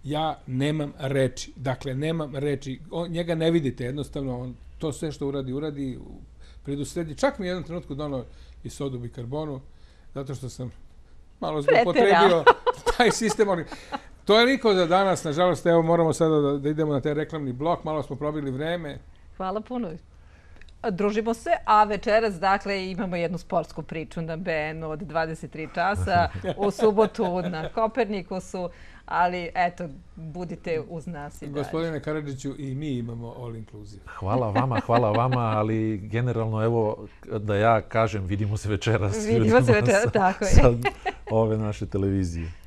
ja nemam reči. Dakle, nemam reči. Njega ne vidite, jednostavno, to sve što uradi, predusredi. Čak mi je jednom trenutku donao i sodu bikarbonu, zato što sam malo zloupotrebio taj sistem. To je liko za danas, nažalost, evo moramo sada da idemo na taj reklamni blok, malo smo probili vreme. Hvala puno. družimo se, a večeras, dakle, imamo jednu sportsku priču na BN od 23 časa, u subotu na Kopernikusu, ali eto, budite uz nas i dalje. Gospodine Karadžiću, i mi imamo all inclusive. Hvala vama, ali generalno, evo, da ja kažem, vidimo se večeras. Vidimo se večeras, tako je. Sa ove naše televizije.